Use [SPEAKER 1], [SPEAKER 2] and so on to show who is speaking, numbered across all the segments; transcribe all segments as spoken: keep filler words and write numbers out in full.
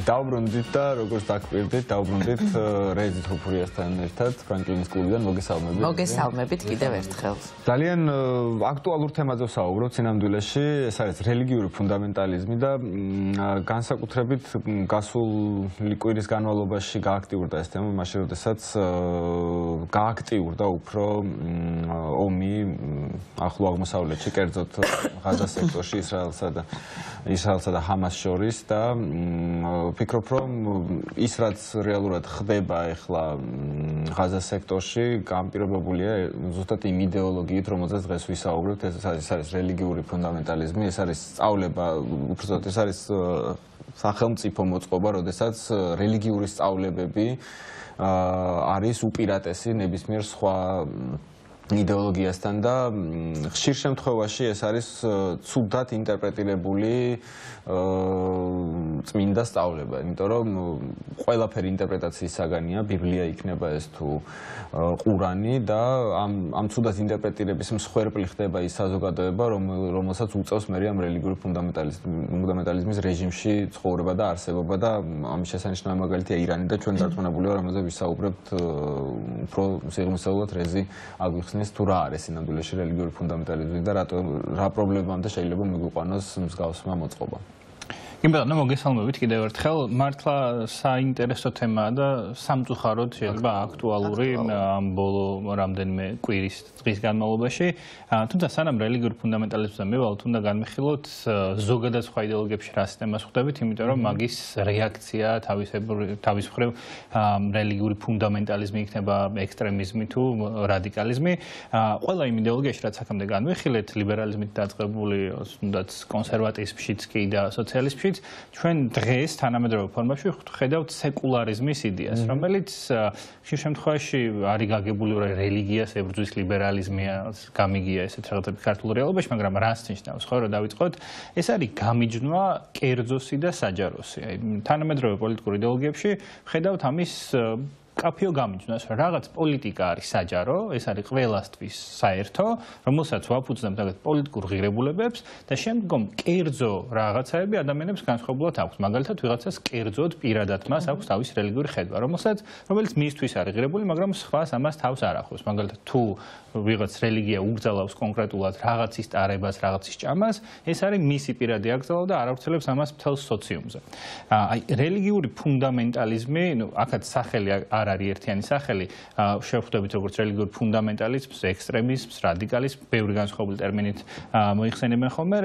[SPEAKER 1] დავბრუნდით და როგორც დაგვირდით, დავბრუნდით რეიზით ჰუფურიასთან ერთად ფრანკლინის კლუბიდან მოგესალმებით.
[SPEAKER 2] მოგესალმებით კიდევ ერთხელ.
[SPEAKER 1] ძალიან აქტუალურ თემაზე ვსაუბრობთ სინამდვილეში, ეს არის რელიგიური ფუნდამენტალიზმი და განსაკუთრებით გასული კვირის განმავლობაში გააქტიურდა ეს თემა, მაშინ როდესაც გააქტიურდა უფრო ომი ახლო აღმოსავლეთში, კერძოდ ღაზა სექტორში ისრაელსა და ისრაელსა და ჰამას შორის და ვფიქრობ, რომ ის რაც რეალურად ხდება ახლა ღაზა სექტორში, განპირობებულია ზუსტად იმ იდეოლოგიით, რომელზეც დღეს ვისაუბრებთ, ეს არის რელიგიური ფუნდამენტალიზმი, ეს არის სწავლება, უბრალოდ ეს არის სახელმწიფო მოწყობა, როდესაც რელიგიური სწავლებები არის უპირატესი ნებისმიერ სხვა იდეოლოგიასთან და ხშირ შემთხვევაში ეს არის ცუდად ინტერპრეტირებული წმინდა სწავლება, იმიტომ რომ ყველაფერი ინტერპრეტაციის საგანია, ბიბლია იქნება ეს თუ ყურანი და ამ ამ ცუდად ინტერპრეტირების მსხვერპლი ხდება ის საზოგადოება, რომელსაც უწევს მე ამ რელიგიური ფუნდამენტალიზმის რეჟიმში ცხოვრება და არსებობა და ამის შესანიშნავი მაგალითია ირანი და ჩვენ დარწმუნებული ვარ, რომელზეც ვისაუბრებთ უფრო სიღრმისეულად რეზი აგვიხსნის თუ რა არის სინამდვილეში რელიგიური ფუნდამენტალიზმი და რა პრობლემამდე შეიძლება მიგვიყვანოს მსგავსმა მოწყობა.
[SPEAKER 3] იმბატონო მოგესალმებით კიდევ ერთხელ, მართლა საინტერესო თემაა და სამწუხაროდ შეიძლება აქტუალური ამ ბოლო რამდენიმე კვირის დღის განმავლობაში. თუმცა სანამ რელიგიური ფუნდამენტალიზმზე მივალთ, უნდა განვიხილოთ ზოგადად სხვა იდეოლოგიებში რა სისტემას ხვდებით, იმიტომ რომ მაგის რეაქცია თავის მხრივ რელიგიური ფუნდამენტალიზმი იქნება ექსტრემიზმი თუ რადიკალიზმი. ყველა იმ იდეოლოგიაში რაც აქამდე განვიხილეთ, ლიბერალიზმით დაწყებული, თუნდაც კონსერვატიზმშიც კი და სოციალიზმში ჩვენ დღეს თანამედროვე ფორმაში ხედავთ სეკულარიზმის იდეას, რომელიც ხშირ შემთხვევაში არის გაგებული რელიგიას ებრძვის ლიბერალიზმია, გამიგია ესეთ რაღაცები ქართულ რეალობაში, მაგრამ რას ნიშნავს, ხო, რომ დავიწყოთ, ეს არის გამიჯნვა კერძოსი და საჯაროსი. აი, თანამედროვე პოლიტიკურ იდეოლოგიებში ხედავთ ამის კაფეო გამიჯნას, რომ რაღაც პოლიტიკა არის საჯარო, ეს არის ყველასთვის საერთო, რომელსაც ვაფუძნებთ რაღაც პოლიტიკურ ღირებულებებს და შემდგომ კერძო რაღაცაები ადამიანებს განსხვავებულად აქვს. მაგალითად, ვიღაცას კერძოდ პირადად მას აქვს თავისი რელიგიური ხედვა, რომელსაც რომელიც მისთვის არის ღირებული, მაგრამ სხვას ამას თავს არ ახლავს. მაგალითად, თუ ვიღაც რელიგია უგრძალავს კონკრეტულად რაღაცის ტარებას, რაღაცის ჭამას, ეს არის მისი პირადი აკრძალვა და არ ავრცელებს ამას მთელს სოციუმზე. აი, რელიგიური ფუნდამენტალიზმი, ნუ აქაც სახელი არ არის ერთიანი სახელი, შევხვდებით როგორც რელიგიური ფუნდამენტალიზმს, ექსტრემიზმს, რადიკალიზმს, ბევრი განსხვავებული ტერმინით მოიხსენებენ ხოლმე.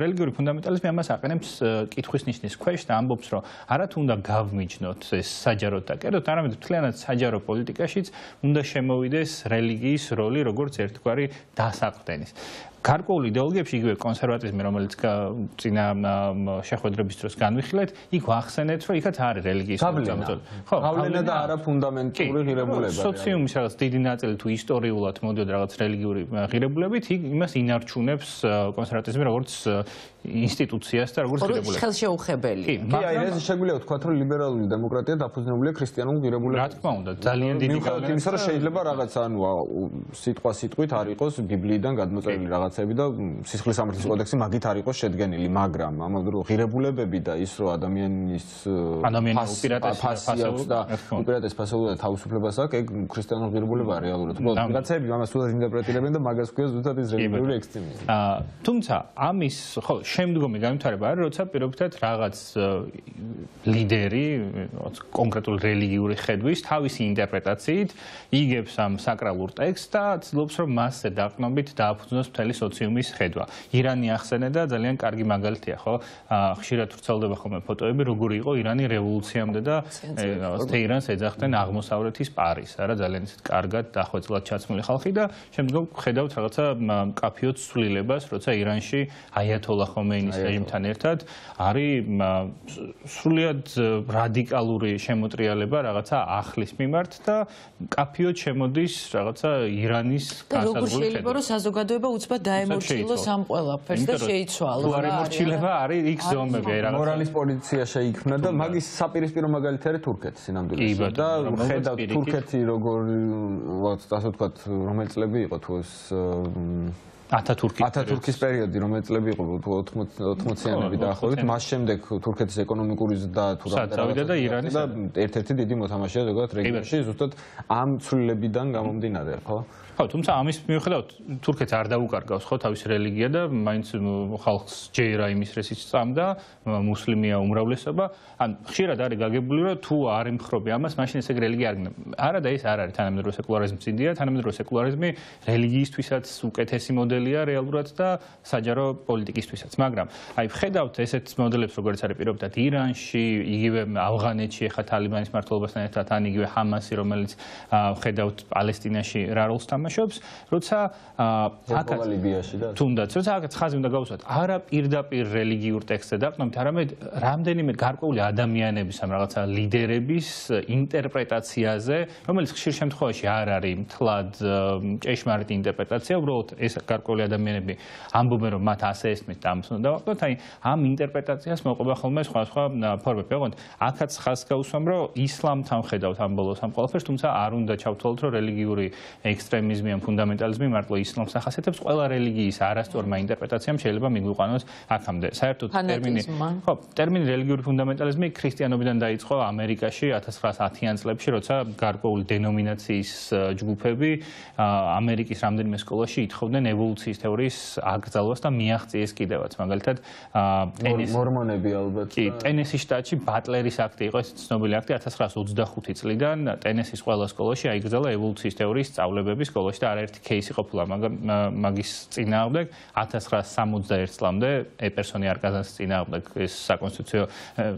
[SPEAKER 3] რელიგიური ფუნდამენტალიზმი ამას აყენებს კითხვის ნიშნის ქვეშ და ამბობს, რომ არა თუ უნდა გავმიჯნოთ ეს საჯაროდ და კერძოდ, არამედ მთლიანად საჯარო პოლიტიკაშიც უნდა შემოვიდეს რელიგიის როლი როგორც ერთგვარი დასაყრდენის. გარკვეულ იდეოლოგიებში იგივე კონსერვატიზმი, რომელიც წინა შეხვედრების დროს განვიხილეთ, იქ ვახსენეთ, რომ იქაც არის რელიგიის
[SPEAKER 1] მოწამეწოლი. ხო, გავლენა და არა ფუნდამენტური ღირებულება.
[SPEAKER 3] სოციუმის რაღაც დიდი ნაწილი თუ ისტორიულად მოდიოდა რაღაც რელიგიური ღირებულებით, იმას ინარჩუნებს კონსერვატიზმი როგორც ინსტიტუციას და როგორც ღირებულებას.
[SPEAKER 2] ხელშეუხებელი.
[SPEAKER 1] კი, აი ეს შეგვიძლია ვთქვათ, რომ ლიბერალური დემოკრატია დაფუძნებულია ქრისტიანულ ღირებულებებზე.
[SPEAKER 3] რა თქმა უნდა, ძალიან დიდი
[SPEAKER 1] გავლენა. იმისა, რომ შეიძლება რაღაც ანუ სიტყვა სიტყვით არ იყოს ბიბლიიდან გადმოწერილი რაღაც და სისხლის სამართლის კოდექსი მაგით არ იყოს შედგენილი, მაგრამ ამავდროულად ღირებულებები და ის რომ ადამიანის
[SPEAKER 3] ადამიანის
[SPEAKER 1] უპირატესობას და უპირატეს ფასეულობა და თავისუფლებას აქვს, ეგ ქრისტიანულ ღირებულებაა რეალურად. უბრალოდ ვიღაცები ამას თუდად ინტერპრეტირებენ და მაგას ქვია ზუსტად ის რელიგიური ექსტრემიზმი.
[SPEAKER 3] თუმცა ამის ხო შემდგომი განვითარება არის, როცა პირობითად რაღაც ლიდერი კონკრეტულ რელიგიური ხედვის თავისი ინტერპრეტაციით იგებს ამ საკრალურ ტექსტს და ცდილობს რომ მასზე დაყრდნობით დააფუძნოს მთელი სოციუმის ხედვა. ირანი ახსენე და ძალიან კარგი მაგალითია, ხო? ხშირად ვრცელდება ხოლმე ფოტოები, როგორი იყო ირანი რევოლუციამდე და თეირანს ეძახდნენ აღმოსავლეთის პარის, არა ძალიან ისეთ კარგად დახვეწილად ჩაცმული ხალხი და შემდგომ ხედავთ რაღაცა კაფეო ცვლილებას, როცა ირანში აიათოლა ხომეინის რეჟიმთან ერთად არის სრულიად რადიკალური შემოტრიალება რაღაცა ახლის მიმართ და კაფეოდ შემოდის რაღაცა ირანის განსაზღვრული
[SPEAKER 2] როგორ შეიძლება რომ საზოგადოება უცბად დაემორჩილოს ამ ყველაფერს და შეიცვალოს.
[SPEAKER 3] თუ არ ემორჩილება არის იქ ზომები აი რაღაც
[SPEAKER 1] მორალის პოლიცია შეიქმნა და მაგის საპირისპირო მაგალითი არის თურქეთი სინამდვილეში და ხედავთ თურქეთი როგორ ასე ვთქვათ რომელი წლები იყო თუ ეს
[SPEAKER 3] ათათურქის
[SPEAKER 1] ათათურქის პერიოდი, რომელიც წლები იყო ოთხმოციანები დაახლოებით, მას შემდეგ თურქეთის ეკონომიკური ზრდა თუ
[SPEAKER 3] რაღაცა და ირანის
[SPEAKER 1] და ერთ-ერთი დიდი მოთამაშეა ზოგადად რეგიონში, ზუსტად ამ ცვლილებიდან გამომდინარე, ხო?
[SPEAKER 3] ხო, თუმცა ამის მიუხედავად თურქეთს არ დაუკარგავს ხო თავის რელიგია და მაინც ხალხს ჯერა იმის რესიც წამდა, მუსლიმია უმრავლესობა. ან ხშირად არის გაგებული რომ თუ არ ემხრობი ამას, მაშინ ესე რელიგია არ გინდა. არა და ეს არ არის თანამედროვე სეკულარიზმი ძინდია, თანამედროვე სეკულარიზმი რელიგიისთვისაც უკეთესი მოდელია რეალურად და საჯარო პოლიტიკისთვისაც. მაგრამ აი ვხედავთ ესეთ მოდელებს როგორც არის პირობითად ირანში, იგივე ავღანეთში ახლა თალიბანის მმართველობასთან ერთად, ან იგივე ჰამასი, რომელიც ვხედავთ პალესტინაში რა როლს თამაშობს, როცა
[SPEAKER 1] აკაც ლიბიაში და
[SPEAKER 3] თუნდაც როცა აკაც ხაზი უნდა გავუსვათ, არა პირდაპირ რელიგიურ ტექსტზე დაყრდნობით, არამედ რამდენიმე გარკვეული ადამიანების ამ რაღაცა ლიდერების ინტერპრეტაციაზე, რომელიც ხშირ შემთხვევაში არ არის მთლად ჭეშმარიტი ინტერპრეტაცია, უბრალოდ ეს გარკვეული ადამიანები ამბობენ, რომ მათ ასე ესმის და ამას უნდა დავაყდოთ, აი ამ ინტერპრეტაციას მოყვება ხოლმე სხვადასხვა ფორმები. ოღონდ აქაც ხაზს გავუსვამ, რომ ისლამთან ხედავთ ამ ბოლოს ამ ყველაფერს, თუმცა არ უნდა ჩავთვალოთ, რომ რელიგიური ექსტრემიზმი ან ფუნდამენტალიზმი მარტო ისლამს ახასიათებს, ყველა რელიგიის არასწორმა ინტერპრეტაციამ შეიძლება მიგვიყვანოს აქამდე. საერთოდ ტერმინი ხო, ტერმინი რელიგიური ფუნდამენტალიზმი ქრისტიანობიდან დაიწყო ამერიკაში ათას ცხრაას ათიან წლებში, როცა გარკვეული დენომინაციის ჯგუფები ამერიკის რამდენიმე სკოლაში ითხოვდნენ ევოლუციის თეორიის აკრძალვას და მიაღწიეს კიდევაც. მაგალითად,
[SPEAKER 1] მორმონები ალბათ.
[SPEAKER 3] კი, ტენესის შტატში ბატლერის აქტი იყო, ეს ცნობილი აქტი ათას ცხრაას ოცდახუთი წლიდან ტენესის ყველა სკოლაში აიკრძალა ევოლუციის თეორიის სწავლებების სკოლაში და არაერთი кейსი ყოფილა მაგის წინააღმდეგ. ათას ცხრაას სამოცდაერთ წლამდე ეპერსონი არკაზანსის წინააღმდეგ ეს საკონსტიტუციო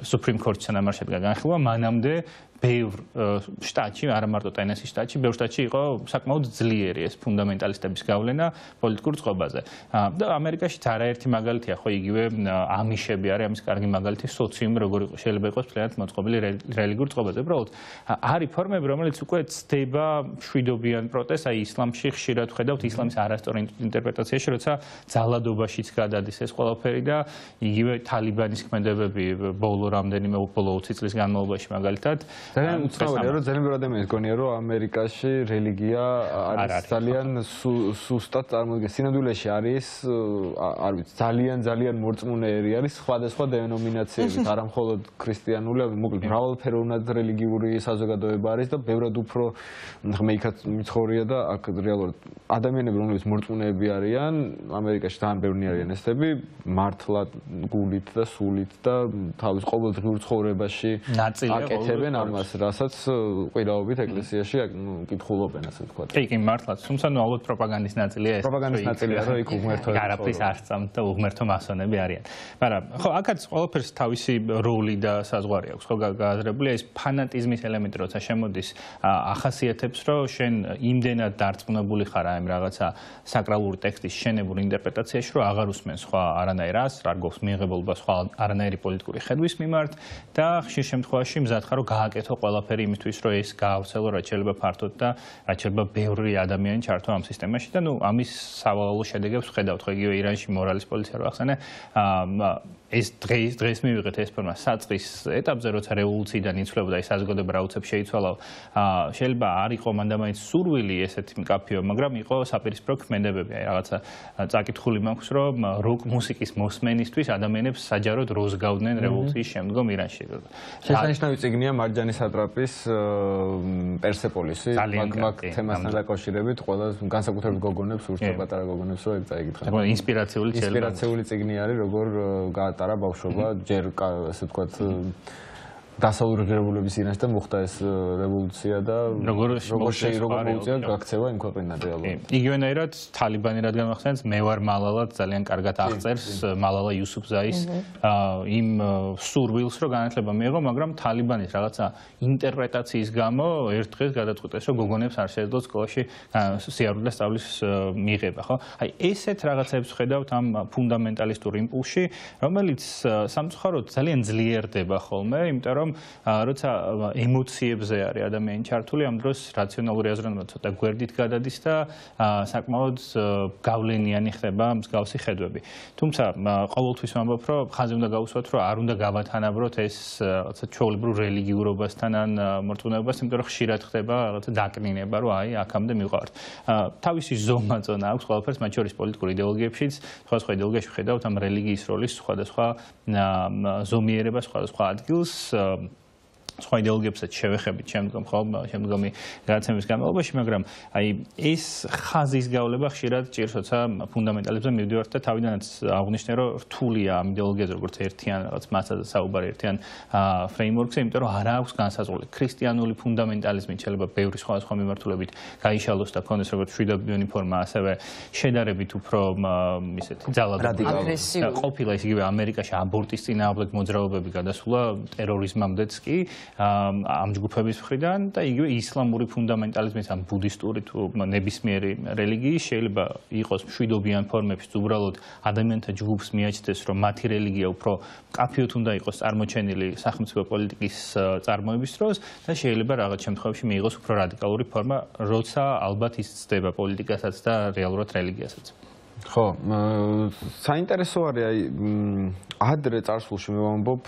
[SPEAKER 3] სუპრიმ კორტის თანამარხები განხილვა, მანამდე ბევრ შტატში, არა მარტო ტენესის შტატში, ბევრ შტატში იყო საკმაოდ ძლიერი ეს ფუნდამენტალისტების გავლენა პოლიტიკურ წყობაზე. და ამერიკაშიც არაერთი მაგალითია, ხო, იგივე ამიშები არის ამის კარგი მაგალითი, სოციუმი როგორ შეიძლება იყოს მთლიანად მოწყობილი რელიგიურ წყობაზე. უბრალოდ არის ფორმები, რომელიც უკვე ცდება მშვიდობიან პროტესტს, აი ისლამში ხშირად ვხედავთ ისლამის არასწორ ინტერპრეტაციაში, როცა ძალადობაშიც გადადის ეს ყველაფერი და იგივე თალიბანის ქმედებები ბოლო რამდენიმე ბოლო ოცი წლის განმავლობაში მაგალითად
[SPEAKER 1] ძალიან უცნაურია, რომ ძალიან ბევრი ადამიანი გონია, რომ ამერიკაში რელიგია არის ძალიან სუსტად წარმოდგენილი. სინამდვილეში არის, არ ვიცი, ძალიან ძალიან მორწმუნეერი არის სხვადასხვა დენომინაციებით, არა მხოლოდ ქრისტიანული, მოკლედ მრავალფეროვნად რელიგიური საზოგადოება არის და ბევრად უფრო ღმეიქად მიცხოვრია და აქ რეალურად ადამიანები, რომლებიც მორწმუნეები არიან, ამერიკაში ძალიან ბევრი არიან ესები, მართლად გულით და სულით და თავის ყოველდღიურ ცხოვრებაში აკეთებენ ამას, რასაც ყვირაობით ეკლესიაში კითხულობენ, ასე ვთქვათ.
[SPEAKER 3] კი, კი, მართლაც, თუმცა ნუ ალბათ პროპაგანდის ნაწილია ეს.
[SPEAKER 1] პროპაგანდის ნაწილია, რომ იქ უღმერთოები
[SPEAKER 3] არაფრის არ სწამთ და უღმერთო მასონები არიან. მაგრამ ხო, აქაც ყველაფერს თავისი როლი და საზღვარი აქვს, ხო, გააზრებული ეს ფანატიზმის ელემენტი, როცა შემოდის, ახასიათებს, რომ შენ იმდენად დარწმუნებული ხარ ამ რაღაცა საკრალური ტექსტის შენებურ ინტერპრეტაციაში, რომ აღარ უსმენ სხვა არანაირ ას, არ გობს მიიღებულობა სხვა არანაირი პოლიტიკური ხედვის მიმართ და ხშირ შემთხვევაში მზად ხარ, რომ გააკეთო ყველაფერი იმისთვის, რომ ეს გაავრცელო რაც შეიძლება ფართოდ და რაც შეიძლება ბევრი ადამიანი ჩართო ამ სისტემაში და ნუ ამის სავალალო შედეგებს ვხედავთ, ხო, იგივე ირანში მორალის პოლიცია რო ახსენე, ეს დღეს დღეს მივიღეთ ეს ფორმა საწყის ეტაპზე, როცა რევოლუციიდან იცვლებოდა ეს საზოგადოება რა უცებ შეიცვალა, შეიძლება არ იყო მანდამაინც სურვილი ესეთი მკაფიო, მაგრამ იყო საპირისპირო ქმედებები, აი რაღაცა წაკითხული მაქვს, რომ როკ მუსიკის მოსმენისთვის ადამიანებს საჯაროდ როს გავდნენ რევოლუციის შემდგომ ირანში.
[SPEAKER 1] შესანიშნავი წიგნია მარჯანი სატრაპის პერსეპოლისი, მაგ თემასთან დაკავშირებით, ყველა განსაკუთრებით გოგონებს, ურჩა პატარა გოგონებს რო ეგ წაიკითხა.
[SPEAKER 3] ინსპირაციული
[SPEAKER 1] ინსპირაციული წიგნი არის, როგორ გაატარა ბავშვობა, ჯერ ასე ვთქვათ დასავლური ღირებულების ირანში და მოხდა ეს რევოლუცია და
[SPEAKER 3] როგორ
[SPEAKER 1] როგორ მოუწია გაქცევა იმ ქვეყნიდან რეალურად.
[SPEAKER 3] იგივენაირად თალიბანი რადგან ახსენებს, მე ვარ მალალად ძალიან კარგად აღწერს მალალა იუსუფზაის იმ სურვილს, რომ განათლება მიიღო, მაგრამ თალიბანის რაღაცა ინტერპრეტაციის გამო ერთ დღეს გადაწყვიტეს, რომ გოგონებს არ შეეძლოთ სკოლაში სიარული და სწავლის მიღება, ხო? აი ესეთ რაღაცებს ხედავთ ამ ფუნდამენტალისტურ იმპულსში, რომელიც სამწუხაროდ ძალიან ძლიერდება ხოლმე, იმიტომ რომ რომ როცა ემოციებზე არის ადამიანი ჩართული, ამ დროს რაციონალური აზროვნება ცოტა გვერდით გადადის და საკმაოდ გავლენიანი ხდება მსგავსი ხედვები. თუმცა ყოველთვის ვამბობ, რომ ხაზი უნდა გავუსვათ, რომ არ უნდა გავათანაბროთ ეს რაღაცა ჩვეულებრივ რელიგიურობასთან ან მორწმუნეობას, იმიტომ რომ ხშირად ხდება რაღაცა დაკნინება, რომ აი აქამდე მივყავართ. თავისი ზომა წონა აქვს ყველაფერს, მათ შორის პოლიტიკურ იდეოლოგიებშიც, სხვადასხვა იდეოლოგიაში ვხედავთ ამ რელიგიის როლის სხვადასხვა ზომიერებას, სხვადასხვა ადგილს სხვა იდეოლოგიებსაც შევეხებით შემდგომ ხომ შემდგომი გადაცემის განმავლობაში, მაგრამ აი ეს ხაზის გავლება ხშირად ჭირს, როცა ფუნდამენტალიზმზე მივდივართ და თავიდანაც აღნიშნე, რომ რთულია ამ იდეოლოგიაზე როგორც ერთიან რაღაც მასაზე საუბარი ერთიან ფრეიმვორკზე, იმიტომ რომ არ აქვს განსაზღვრული. ქრისტიანული ფუნდამენტალიზმით შეიძლება ბევრი სხვადასხვა მიმართულებით გაიშალოს და ქონდეს როგორც მშვიდობიანი ფორმა, ასევე შედარებით უფრო ისეთი ძალადობრივი
[SPEAKER 2] აგრესიული
[SPEAKER 3] ყოფილა ის იგივე ამერიკაში აბორტის წინააღმდეგ მოძრაობები გადასულა ტერორიზმამდეც კი ამ ჯგუფების მხრიდან და იგივე ისლამური ფუნდამენტალიზმის ამ ბუდისტური თუ ნებისმიერი რელიგიის შეიძლება იყოს მშვიდობიან ფორმებში უბრალოდ ადამიანთა ჯგუფს მიაჩნდეს რომ მათი რელიგია უფრო მკაფიოდ უნდა იყოს წარმოჩენილი სახელმწიფო პოლიტიკის წარმოების დროს და შეიძლება რაღაც შემთხვევებში მიიღოს უფრო რადიკალური ფორმა, როცა ალბათ ის ცდება პოლიტიკასაც და რეალურად რელიგიასაც.
[SPEAKER 1] ხო, საინტერესო არის აი ადრე წარსულში მე ვამბობ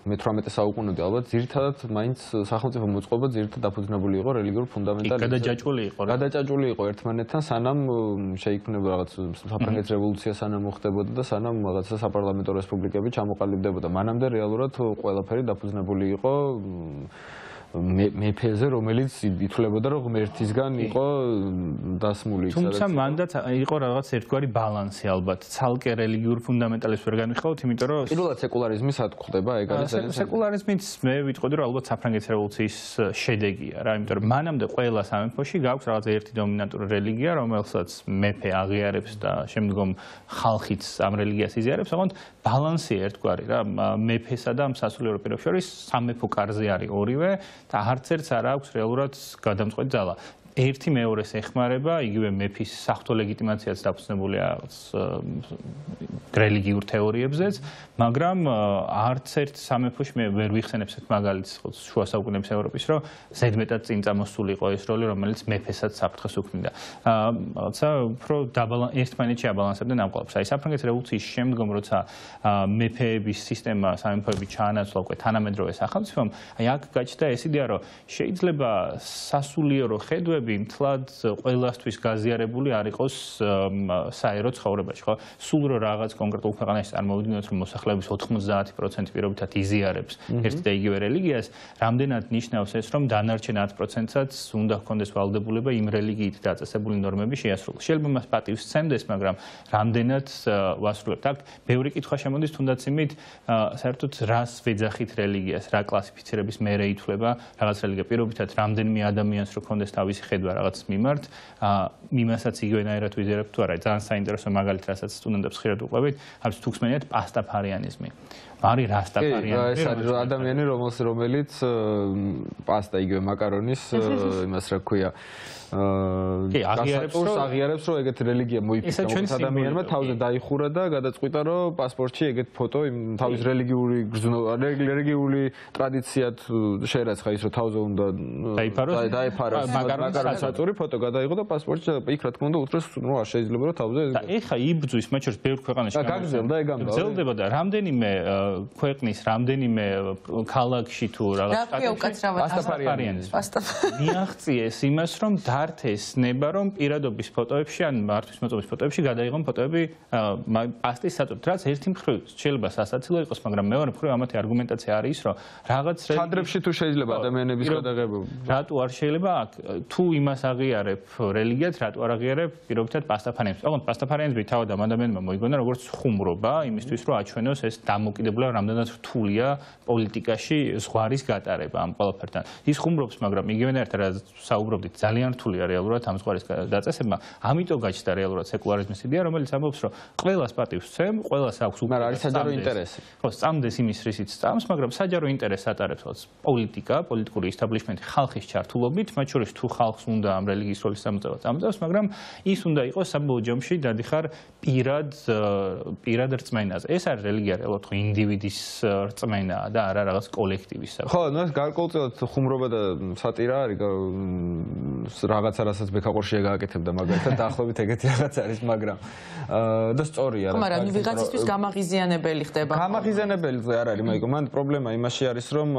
[SPEAKER 1] მეთვრამეტე საუკუნეები ალბათ ძირითადად მაინც სახელმწიფო მოწყობა ძირითადად დაფუძნებული იყო რელიგიურ ფუნდამენტალიზმზე.
[SPEAKER 3] გადაჭაჭული იყო რა.
[SPEAKER 1] გადაჭაჭული იყო ერთმანეთთან, სანამ შეიქმნება რაღაც საფრანგეთის რევოლუცია სანამ მოხდებოდა და სანამ რაღაცა საპარლამენტო რესპუბლიკები ჩამოყალიბდებოდა. მანამდე რეალურად ყველაფერი დაფუძნებული იყო მეფეზე, რომელიც ითვლებოდა, რომ ღმერთისგან იყო დასმული.
[SPEAKER 3] თუმცა მანდაც იყო რაღაც ერთგვარი ბალანსი ალბათ. ცალკე რელიგიურ ფუნდამენტალიზმს ვერ განვიხილავთ, იმიტომ რომ
[SPEAKER 1] პირველად სეკულარიზმი სად გვხდება, ეგ არის ძალიან
[SPEAKER 3] სეკულარიზმიც მე ვიტყოდი, რომ ალბათ საფრანგეთის რევოლუციის შედეგია რა, იმიტომ რომ მანამდე ყველა სამეფოში გაქვს რაღაც ერთი დომინანტური რელიგია, რომელსაც მეფე აღიარებს და შემდგომ ხალხიც ამ რელიგიას იზიარებს, ოღონდ ბალანსი ერთგვარი რა, მეფესა და სასულიერო პირებს შორის სამეფო კარზე არის ორივე და არც ერთს არ აქვს რეალურად გადამწყვეტი ძალა. ერთი მეორეს ეხმარება, იგივე მეფის საღვთო ლეგიტიმაციაც დაფუძნებულია რელიგიურ თეორიებზეც, მაგრამ არც ერთ სამეფოში მე ვერ ვიხსენებს ერთ მაგალითს შუა საუკუნეების ევროპის, რომ ზედმეტად წინ წამოსული იყო ეს როლი, რომელიც მეფესაც საფრთხეს უქმნიდა. რაღაცა უფრო ერთმანეთში აბალანსებდნენ ამ ყველაფერს. აი საფრანგეთის რევოლუციის შემდგომ, როცა მეფეების სისტემა სამეფოები ჩაანაცვლა უკვე თანამედროვე სახელმწიფომ, აი აქ გაჩნდა ეს იდეა, რომ შეიძლება სასულიერო ხედვები მთლად ყველასთვის გაზიარებული არ იყოს საერო ცხოვრებაში, ხო? სულ რო რაღაც კონკრეტულ ქვეყანაში წარმოვიდგინოთ, რომ მოსახლეობის ოთხმოცდაათი პროცენტი პირობითად იზიარებს ერთ და იგივე რელიგიას, რამდენად ნიშნავს ეს, რომ დანარჩენ ათ პროცენტსაც უნდა ჰქონდეს ვალდებულება იმ რელიგიით დაწესებული ნორმების შეასრულოს. შეიძლება მას პატივს სცემდეს, მაგრამ რამდენად ვასრულებთ? აქ ბევრი კითხვა შემოდის, თუნდაც იმით, საერთოდ რას ვეძახით რელიგიას, რა კლასიფიცირების მერე ითვლება რაღაც რელიგია. პირობითად რამდენიმე ადამიანს რო ჰქონდეს თავისი ხედვა რაღაც მიმართ, იმასაც იგივენაირად ვიზიარებთ თუ არა. ძალიან საინტერესო მაგალითი, რასაც სტუდენტებს ხშირად უყვებით, არის თუ გსმენიათ პასტაფარიანიზმი. არის რასტაფარიანიზმი.
[SPEAKER 1] ეს არის ადამიანი, რომელიც პასტა იგივე მაკარონის იმას რა ქვია
[SPEAKER 3] კი, აღიარებს რომ
[SPEAKER 1] აღიარებს რომ ეგეთ რელიგია მოიფიქრა მოხდა ადამიანმა თავზე დაიხურა და გადაწყვიტა რომ პასპორტში ეგეთ ფოტო იმ თავის რელიგიური რელიგიური ტრადიციად შეერაცხა ის რომ თავზე უნდა
[SPEAKER 3] დაიფაროს
[SPEAKER 1] დაიფაროს მაგარონის საწური ფოტო გადაიღო და პასპორტში იქ რა თქმა უნდა უთხრეს რომ არ შეიძლება რომ თავზე
[SPEAKER 3] და ეხა იბრძვის მათ შორის ბევრ ქვეყანაში
[SPEAKER 1] გაგრძელდა ეგ ამბავი
[SPEAKER 3] გრძელდება და რამდენიმე ქვეყნის რამდენიმე ქალაქში თუ რაღაც
[SPEAKER 2] პასტაფარიანიზმი
[SPEAKER 3] მიაღწიეს იმას რომ დართეს ნება რომ პირადობის ფოტოებში ან მართვის მოწობის ფოტოებში გადაიღონ ფოტოები პასტის საწურით, რაც ერთი მხრივ შეიძლება სასაცილო იყოს, მაგრამ მეორე მხრივ ამათი არგუმენტაცია არის რომ რაღაც
[SPEAKER 1] კადრებში თუ შეიძლება ადამიანების გადაღებები
[SPEAKER 3] რატო არ შეიძლება აქ თუ იმას აღიარებ რელიგიად, რატო არ აღიარებ პირობითად პასტაფარიანიზმს. ოღონდ პასტაფარიანიზმი თავად ამ ადამიანმა მოიგონა როგორც ხუმრობა იმისთვის რომ აჩვენოს ეს დამოკიდებულება რამდენად რთულია პოლიტიკაში ზღვარის გატარება ამ ყველაფერთან. ის ხუმრობს, მაგრამ იგივენაირად რა საუბრობდით ძალიან რთულია რეალურად ამ ზღვარის დაწესება. ამიტომ გაჩნდა რეალურად სეკულარიზმის იდეა, რომელიც ამბობს, რომ ყველას პატივს სცემ, ყველას აქვს უკვე
[SPEAKER 1] მაგრამ არის საჯარო ინტერესი.
[SPEAKER 3] ხო, სწამდეს იმის რისიც სწამს, მაგრამ საჯარო ინტერესს ატარებს პოლიტიკა, პოლიტიკური ესტაბლიშმენტი ხალხის ჩართულობით, მათ შორის თუ ხალხს ოჯახს უნდა ამ რელიგიის როლის წამოწევა წამოწევს, მაგრამ ის უნდა იყოს საბოლოო ჯამში დადიხარ პირად პირად რწმენაზე. ეს არის რელიგია რეალურად ხო ინდივიდის რწმენაა და არა რაღაც კოლექტივის.
[SPEAKER 1] ხო, ნუ ეს გარკვეულწილად ხუმრობა და სატირა არის რაღაცა რასაც ბექაყორშია გააკეთებდა მაგალითად დაახლოებით ეგეთი რაღაც არის, მაგრამ და სწორია რა.
[SPEAKER 2] მაგრამ ვიღაცისთვის გამაღიზიანებელი ხდება.
[SPEAKER 1] გამაღიზიანებელი არ არის, მაიკო, მან პრობლემა იმაში არის, რომ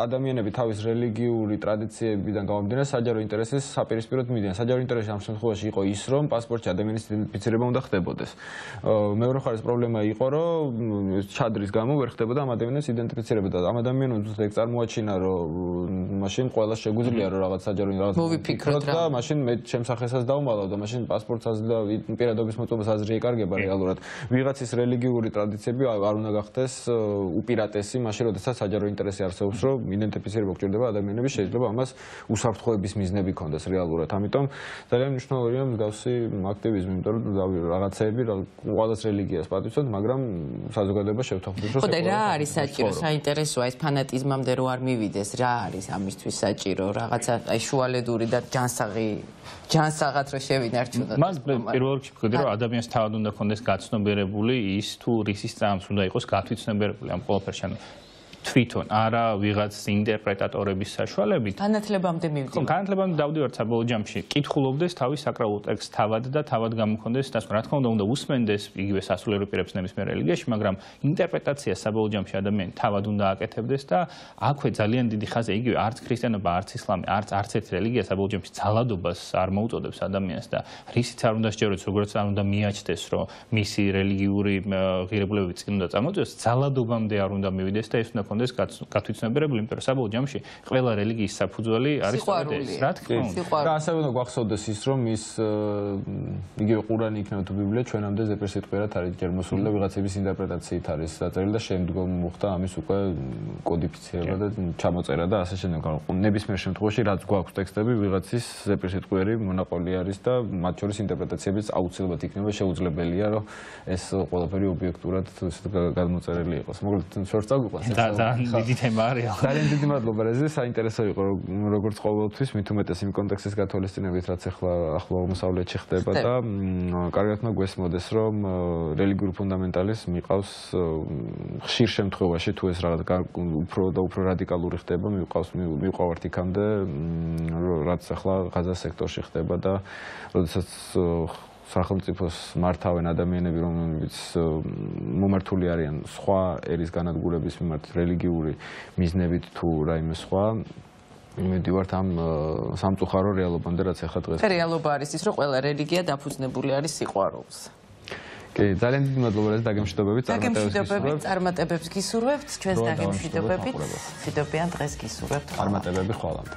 [SPEAKER 1] ადამიანები თავის რელიგიური ტრადიციებიდან გამომდინარე საჯარო ინტერესის საპირისპიროდ მიდიან. საჯარო ინტერესი ამ შემთხვევაში იყო ის, რომ პასპორტში ადამიანის იდენტიფიცირება უნდა ხდებოდეს. მეორე მხარეს პრობლემა იყო, რომ ჩადრის გამო ვერ ხდებოდა ამ ადამიანის იდენტიფიცირება და ამ ადამიანებს ეგ წარმოაჩინა, რომ მაშინ ყველა შეგვიძლია რომ რაღაც საჯარო რაღაც
[SPEAKER 2] მოვიფიქროთ
[SPEAKER 1] და მაშინ მე ჩემს სახელსაც დავმალავ და მაშინ პასპორტსაც და პირადობის მოწმობას აზრი ეკარგება რეალურად. ვიღაცის რელიგიური ტრადიციები არ უნდა გახდეს უპირატესი, მაშინ როდესაც საჯარო ინტერესი არსებობს, რომ იდენტიფიცირება გჭირდება ადამიანების შეიძლება ამას უსაფრთხოების მიზნები ქონდეს რეალურად. ამიტომ ძალიან მნიშვნელოვანია მსგავსი აქტივიზმი, იმიტომ რომ რაღაცეები ყველას რელიგიას პატივცემთ, მაგრამ საზოგადოება შევთანხმდით, რომ
[SPEAKER 2] ხო და რა არის საჭირო, საინტერესოა ეს ფანატიზმამდე რო არ მივიდეს, რა არის ამისთვის საჭირო, რაღაცა აი შუალედური და ჯანსაღი ჯანსაღად რო შევინარჩუნოთ.
[SPEAKER 3] მას პირველ რიგში ვხედავ, რომ ადამიანს თავად უნდა ქონდეს გაცნობიერებული ის თუ რისის წამს უნდა იყოს გათვითცნობიერებული ამ ყველაფერში. თვითონ არა ვიღაც ინტერპრეტატორების საშუალებით.
[SPEAKER 2] განათლებამდე მივდივართ.
[SPEAKER 3] ხო, განათლებამდე დავდივართ საბოლოო ჯამში. კითხულობდეს თავის საკრალულ ტექსტს თავად და თავად გამქონდეს დასკვნა. რა თქმა უნდა, უნდა უსმენდეს იგივე სასულიერო პირებს ნებისმიერ რელიგიაში, მაგრამ ინტერპრეტაცია საბოლოო ჯამში ადამიანი თავად უნდა აკეთებდეს და აქვე ძალიან დიდი ხაზი იგივე არც ქრისტიანობა, არც ისლამი, არც არც ერთი რელიგია საბოლოო ჯამში ძალადობას არ მოუწოდებს ადამიანს და რისიც არ უნდა სჯეროს, როგორც არ უნდა მიაჩნდეს, რომ მისი რელიგიური ღირებულებები წინ უნდა წამოწევს, ძალადობამდე არ უნდა მივიდეს და ეს უნდა კონდეს გათვითცნობიერებული, იმიტომ რომ საბოლოო ჯამში ყველა რელიგიის საფუძველი არის სწორედ ეს. რა თქმა უნდა.
[SPEAKER 1] და ასევე უნდა გვახსოვდეს ის, რომ ის იგივე ყურანი იქნება თუ ბიბლია ჩვენამდე ზეპირ სიტყვიერად არის ჯერ მოსული და ვიღაცების ინტერპრეტაციით არის დაწერილი და შემდგომ მოხდა ამის უკვე კოდიფიცირება და ჩამოწერა და ასე შემდეგ. ნებისმიერ შემთხვევაში რაც გვაქვს ტექსტები ვიღაცის ზეპირ სიტყვიერი მონაყოლი არის და მათ შორის ინტერპრეტაციებიც აუცილებლად იქნება შეუძლებელია, რომ ეს ყველაფერი ობიექტურად გადმოწერილი იყოს. მოკლედ შორს წაგვიყვანს.
[SPEAKER 3] დიდი თემა არის.
[SPEAKER 1] ძალიან დიდი მადლობა რეზი, საინტერესო იყო როგორც ყოველთვის, მით უმეტეს იმ კონტექსტის გათვალისწინებით, რაც ახლა ახლო აღმოსავლეთში ხდება და კარგად მოგვესმოდეს, რომ რელიგიური ფუნდამენტალიზმი მიყავს ხშირ შემთხვევაში, თუ ეს რაღაც უფრო და უფრო რადიკალური ხდება, მიყავს მივყავართ იქამდე, რაც ახლა ღაზას სექტორში ხდება და როდესაც სახელმწიფოს მართავენ ადამიანები, რომლებიც მომართული არიან სხვა ერის განადგურების მიმართ რელიგიური მიზნებით თუ რაიმე სხვა, მივდივართ ამ სამწუხარო რეალობამდე, რაც ახლა დღეს.
[SPEAKER 2] რეალობა არის ის, რომ ყველა რელიგია დაფუძნებული არის სიყვარულს.
[SPEAKER 1] კი, ძალიან დიდი მადლობა რა დაგემშვიდობებით,
[SPEAKER 2] წარმატებებს წარმატებებს გისურვებთ, ჩვენს დაგემშვიდობებით. მშვიდობიან დღეს გისურვებთ.
[SPEAKER 1] წარმატებები ხვალამდე.